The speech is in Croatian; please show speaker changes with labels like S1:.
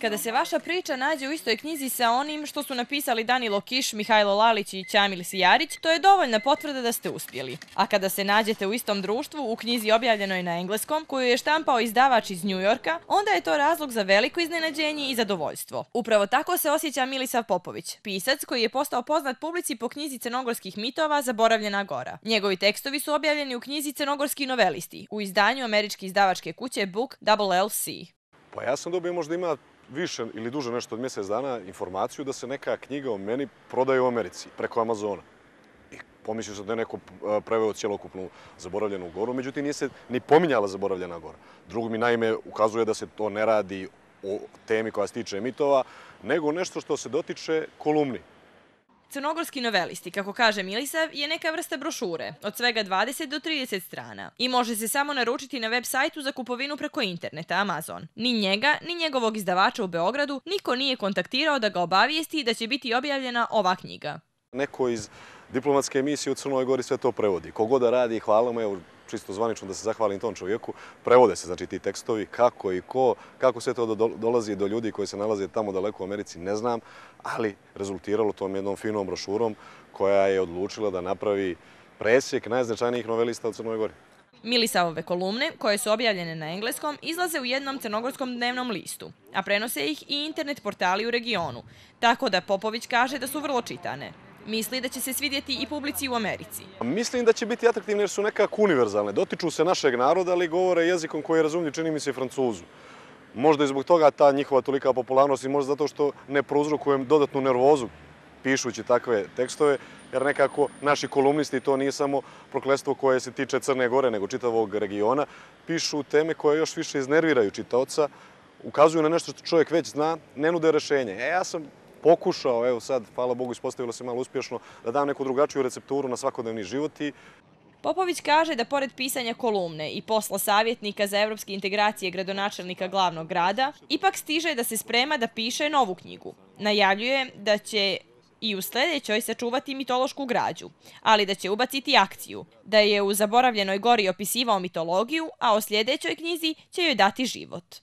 S1: Kada se vaša priča nađe u istoj knjizi sa onim što su napisali Danilo Kiš, Mihajlo Lalić i Ćamil Sijarić, to je dovoljna potvrda da ste uspjeli. A kada se nađete u istom društvu, u knjizi objavljenoj na engleskom, koju je štampao izdavač iz New Yorka, onda je to razlog za veliko iznenađenje i zadovoljstvo. Upravo tako se osjeća Milisav Popović, pisac koji je postao poznat publici po knjizi crnogorskih mitova Zaboravljena gora. Njegovi tekstovi su objavljeni u knjizi Crnogorski novelisti, u izdanju američke izdavačke kuće Book LLC.
S2: Pa ja sam dobio, možda ima više ili duže nešto od mjesec dana, informaciju da se neka knjiga o meni prodaje u Americi preko Amazona. I pomislio sam da je neko preveo cjelokupnu Zaboravljenu goru, međutim nije se ni pominjala Zaboravljena gora. Drugo mi naime ukazuje da se to ne radi o temi koja se tiče mitova, nego nešto što se dotiče kolumni.
S1: Crnogorski novelisti, kako kaže Milisav, je neka vrsta brošure, od svega 20 do 30 strana. I može se samo naručiti na web sajtu za kupovinu preko interneta Amazon. Ni njega, ni njegovog izdavača u Beogradu niko nije kontaktirao da ga obavijesti da će biti objavljena ova knjiga.
S2: Neko iz diplomatske emisije u Crnoj Gori sve to prevodi. Kogod da radi, hvala mu, evo, čisto zvanično da se zahvalim tom čovjeku, prevode se znači ti tekstovi, kako i ko, kako sve to dolazi do ljudi koji se nalaze tamo daleko u Americi, ne znam, ali rezultiralo tom jednom finom brošurom koja je odlučila da napravi presjek najznačajnijih novelista u Crnoj Gori.
S1: Milisavove kolumne, koje su objavljene na engleskom, izlaze u jednom crnogorskom dnevnom listu, a prenose ih i internet portali u regionu, tako da Popović kaže da su vrlo čitane. Misli da će se svidjeti i publici u Americi.
S2: Mislim da će biti atraktivne jer su nekako univerzalne. Dotiču se našeg naroda, ali govore jezikom koji je razumljiv, čini mi se, i Francuzu. Možda i zbog toga ta njihova tolika popularnost i možda zato što ne prouzrokujem dodatnu nervozu pišući takve tekstove, jer nekako naši kolumnisti, to nije samo prokletstvo koje se tiče Crne Gore, nego čitavog regiona, pišu teme koje još više iznerviraju čitaoca, ukazuju na nešto što čovjek već zna, ne nude rješenje. Ja sam pokušao, evo sad, hvala Bogu, ispostavilo se malo uspješno, da dam neku drugačiju recepturu na svakodnevni život.
S1: Popović kaže da pored pisanja kolumne i posla savjetnika za evropske integracije gradonačelnika glavnog grada, ipak stiže da se sprema da piše novu knjigu. Najavljuje da će i u sljedećoj sačuvati mitološku građu, ali da će ubaciti akciju, da je u Zaboravljenoj gori opisivao mitologiju, a o sljedećoj knjizi će joj dati život.